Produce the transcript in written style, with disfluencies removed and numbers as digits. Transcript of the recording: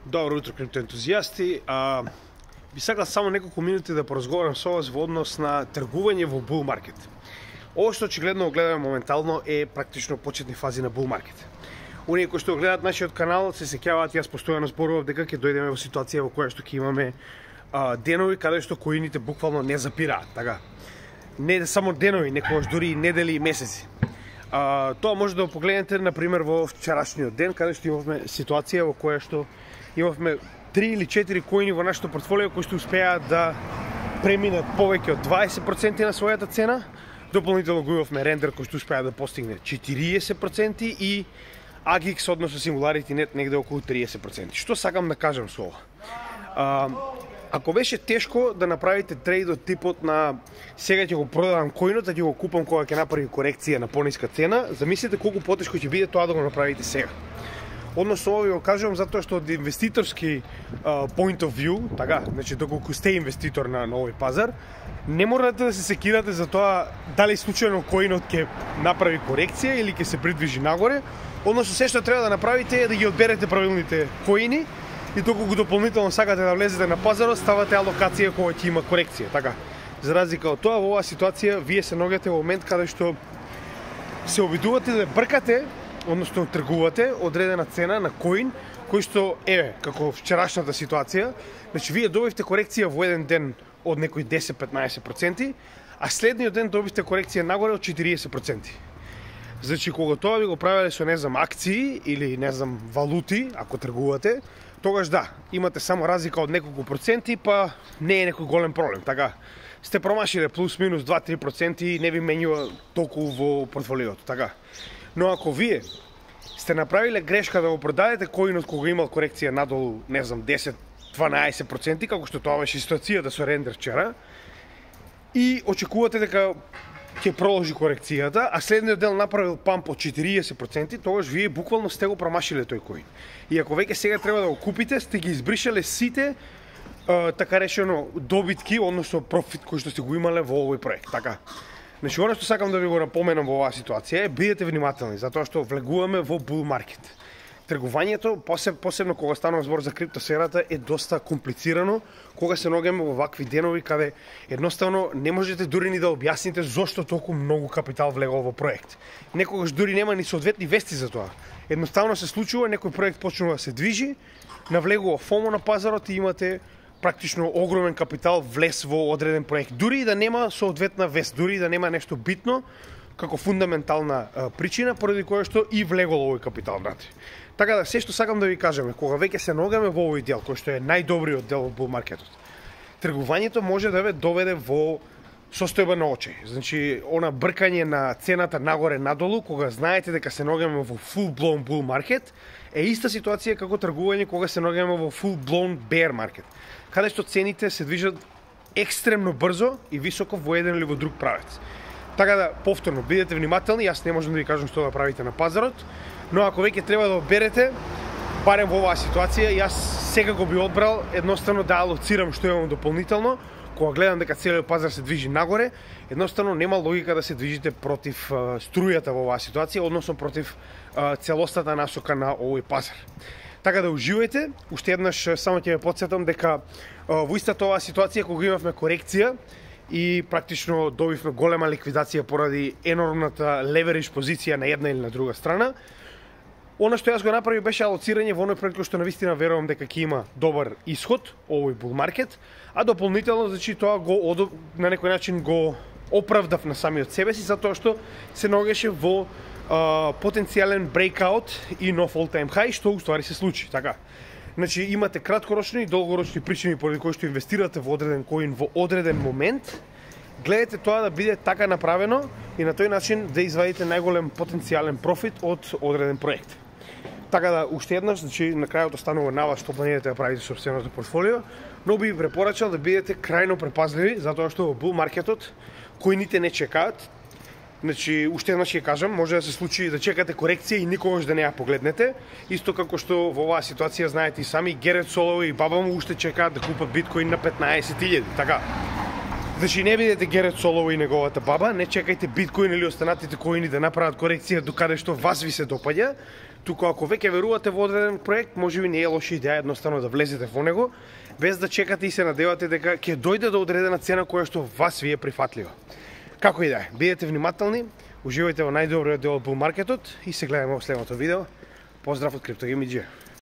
Добро утро, криптоентузијасти. Би сакал само неколку минути да поразговарам со вас во однос на тргување во bull market. Ова што очигледно го гледаме моментално е практично почетни фази на bull market. Оние кои што гледаат нашиот канал се сеќаваат, јас постојано зборував дека ќе дојдеме во ситуација во која што ќе имаме денови каде што коините буквално не запираат, така. Не само денови, некогаш дури и недели и месеци. Тоа може да го погледнете например во вчерашниот ден каде што имавме ситуација во која што имавме 3 или 4 коини во нашето портфолио кои што успеаат да преминат повеќе од 20% на својата цена. Дополнително го имавме рендер кој што успеа да постигне 40% и AGX, односно Singularity Net, негде околу 30%. Што сакам да кажам со ова? Ако беше тешко да направите трейд од типот на сега ќе го продавам коинот, а ќе го купам кога ќе направи корекција на пониска цена, замислете колку потешко ќе биде тоа да го направите сега. Односно ова ви го кажувам затоа што од инвеститорски point of view, така, значи доколку сте инвеститор на овој пазар, не морате да се секирате за тоа дали случајно коинот ќе направи корекција или ќе се придвижи нагоре. Односно се што треба да направите е да ги одберете правилните коини и доколку дополнително сакате да влезете на пазарот, ставате алокација кога ќе има корекција, така. За разлика од тоа, во оваа ситуација вие се наоѓате во момент каде што се обидувате да бркате, односно тргувате одредена цена на коин кој што е како вчерашната ситуација. Значи вие добивте корекција во еден ден од некои 10-15%, а следниот ден добивте корекција нагоре од 40%. Значи кога тоа ви го правеле со акции или валути, ако тргувате, тогаш да, имате само разлика од неколку проценти, па не е некој голем проблем, така. Сте промашиле плюс минус 2-3% и не ви менјува толку во портфолиото, така. Но ако вие сте направиле грешка да го продадете коинот кога имал корекција надолу, 10-12%, како што тоа беше ситуацијата со рендер вчера, и очекувате дека ќе продолжи корекцијата, а следниот дел направил памп од 40%, тогаш вие буквално сте го промашиле тој коин. И ако веќе сега треба да го купите, сте ги избришале сите така решено добитки, односно профит кој што сте го имале во овој проект, така. Значи, оно што сакам да ви го напоменам во оваа ситуација е бидете внимателни, затоа што влегуваме во bull market. Тргувањето, посебно кога станува збор за криптосферата, е доста комплицирано, кога се наоѓаме во вакви денови каде едноставно не можете дури ни да објасните зошто толку многу капитал влегол во проект. Некогаш дури нема ни соодветни вести за тоа. Едноставно се случува, некој проект почнува да се движи, навлегува FOMO на пазарот и имате практично огромен капитал влез во одреден проект. Дури и да нема соодветна вест, дури и да нема нешто битно како фундаментална причина поради која што и влегол овој капитал внатре. Така да, се што сакам да ви кажеме, кога веќе се наоѓаме во овој дел, кој што е најдобриот дел во bull маркетот, тргувањето може да ве доведе во состојба на очај. Значи, она бркање на цената нагоре-надолу, кога знаете дека се наоѓаме во full-blown bull market, е иста ситуација како тргување кога се наоѓаме во full-blown bear market, каде што цените се движат екстремно брзо и високо во еден или во друг правец. Така да, повторно, бидете внимателни, јас не можам да ви кажам што да правите на пазарот, но ако веќе треба да одберете, барем во оваа ситуација, јас сега го би одбрал едноставно да алоцирам што имам дополнително, кога гледам дека целиот пазар се движи нагоре, едноставно нема логика да се движите против струјата во оваа ситуација, односно против целостата насока на овој пазар. Така да уживајте, уште еднаш само ќе ве потсетам дека во истата оваа ситуација кога имавме корекција и практично добивме голема ликвидација поради енормната леверидж позиција на една или на друга страна, она што јас го направив беше алоцирање во оној проект кој што навистина верувам дека ќе има добар исход, овој bull market, а дополнително значи тоа го на некој начин го оправдав на самиот себе си затоа што се наоѓаше во потенцијален breakout и нов all-time high, што уствари се случи, така. Значи имате краткорочни и долгорочни причини поради кои што инвестирате во одреден коин во одреден момент. Гледате тоа да биде така направено и на тој начин да извадите најголем потенцијален профит од одреден проект. Така да, уште еднаш, значи на крајот останува на вас што планирате да правите сопственото портфолио, но би препорачал да бидете крајно препазливи, затоа што во bull маркетот коините не чекаат. Значи, уште еднаш ќе кажам, може да се случи да чекате корекција и никогаш да не ја погледнете. Исто како што во оваа ситуација знаете и сами, Герет Солоу и баба му уште чекаат да купат биткоин на 15.000, така. Значи не бидете Герет Солоу и неговата баба, не чекајте биткоин или останатите коини да направат корекција до каде што вас ви се допаѓа, Туку ако веќе верувате во одреден проект, можеби не е лоша идеја едноставно да влезете во него, без да чекате и се надевате дека ќе дојде до одредена цена која што вас ви е прифатлива. Како и да е, бидете внимателни, уживајте во најдобриот дел од bull маркетот и се гледаме во следното видео. Поздрав од CryptoGameG.